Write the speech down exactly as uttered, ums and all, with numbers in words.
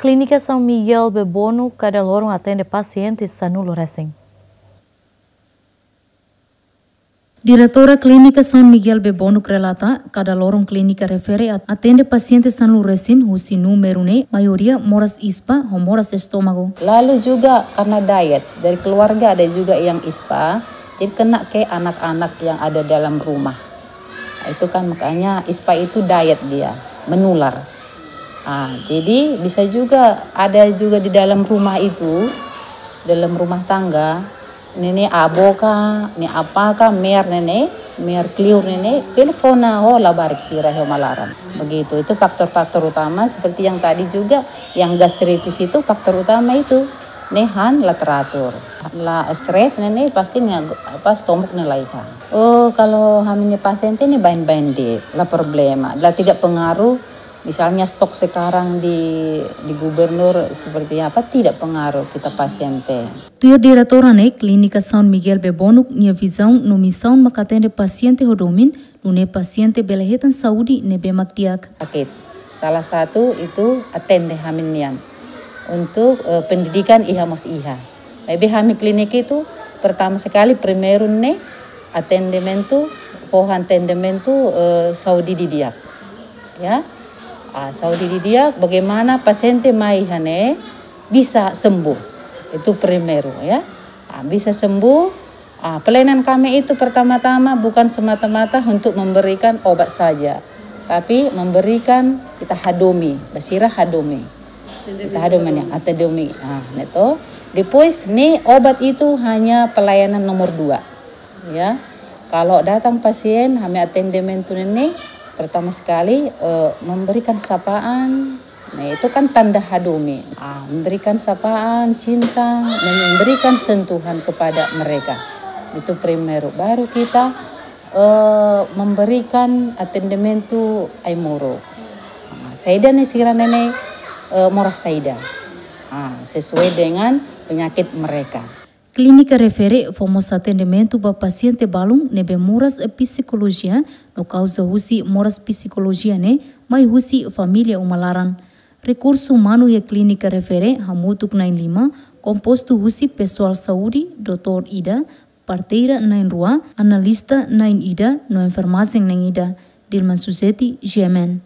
Klínika São Miguel Bebonuk kada loron atende pasiente sanulu resin. Diretora Klínika São Miguel Bebonuk relata, kada loron klínika refere at-, atende pasiente sanulu resin husi númeru ne'e maioria moras ispa ho moras estómagu. Lalu juga karena diet, dari keluarga ada juga yang ispa, jadi kena ke anak-anak yang ada dalam rumah. Itu kan makanya ispa itu diet dia, menular. Ah, jadi bisa juga ada juga di dalam rumah itu, dalam rumah tangga, ne'e ne'e avó ka, ne'e apá ka, meer ne'e ne'e, meer kliur ne'e ne'e, bele kona ho labarik sira iha uma laran. Begitu, itu faktor-faktor utama seperti yang tadi juga, yang gastritis itu faktor utama itu. Ne'e han la teratur. La stres ne'e ne'e pasti ne'e apa, estómagu ne'e la iha. Oh, kalau hami-nia pasiente ne'e baibain de'it, la problema, la tidak pengaruh. Misalnya stok sekarang di, di gubernur seperti apa, tidak pengaruh kita pasiente. Tuir diretora ne'e, Klínika São Miguel Bebonuk nia vizaun no misaun maka atende pasiente ho domin, nune'e pasiente bele hetan saúde ne'ebé mak di'ak. Sakit. Salah satu itu atende hami nian. Untuk, eh, pendidikan iha mós iha. Maibé hami klínika itu pertama sekali primeiru ne'e atendimentu, fó atendimentu, eh, saúde didi'ak. Ya. Ah, saúde didi'ak, bagaimana pasiente mai iha ne'e bisa sembuh. Itu primeiru, ya. Ah, bisa sembuh. Ah, pelayanan kami itu pertama-tama bukan semata-mata untuk memberikan obat saja, tapi memberikan ita hadomi, ba sira hadomi. Ita hadomi ne'e, ita hadomi. Ah, ne'e to. Depois ne'e obat itu hanya pelayanan nomor dua. Ya. Kalau datang pasien, hami atendimentu ne'e ne'e, pertama sekali, eh, memberikan sapaan. Nah, itu kan tanda hadomi. Ah, memberikan sapaan, cinta, memberikan sentuhan kepada mereka. Itu primeiru. Baru kita, eh, memberikan atendimentu ai-moruk. Ah, saida ne'e sira ne'e ne'e, eh, moras saida. Ah, sesuai dengan penyakit mereka. Klínika refere fó mós atendimentu ba pasiente balun ne'ebé moras psikolojia no kauza husi moras psikolojia ne'e mai husi família uma laran. Rekursu umanu iha klínika refere hamutuk na'in lima, kompostu husi pesoál saúde, doutór ida, parteira na'in rua, analista na'in ida no enfermajen na'in ida. Dilma Suzeti, G M N.